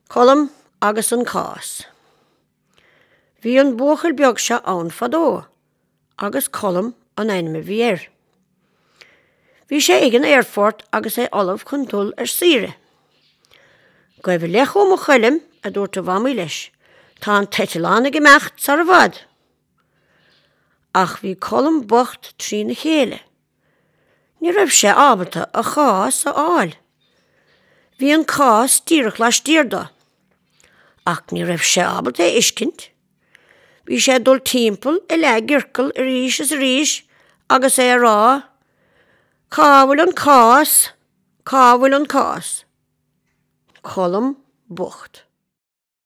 Colm agus an Cás. Bhí an buachaill beag seo ann fadó agus Colm an ainm a bhí air. Bhí sé ag an aerfort agus é ullamh chun dul ar saoire. Gabh i leith chugam a Choilm, a dúirt a mhamaí leis, tá an t-eitleán ag imeacht sar i bhfad. Ach bhí Colm bocht trína chéile. Ní raibh sé ábalta a chás a fháil. Bhí an cás díreach laistiar do. Ach ní raibh sé ábalta é fheiscint. Bhí sé ag dul timpeall i leathchiorcal arís is arís agus é ag rá, Cá bhfuil an cás? Cá bhfuil an cás? Colm bocht.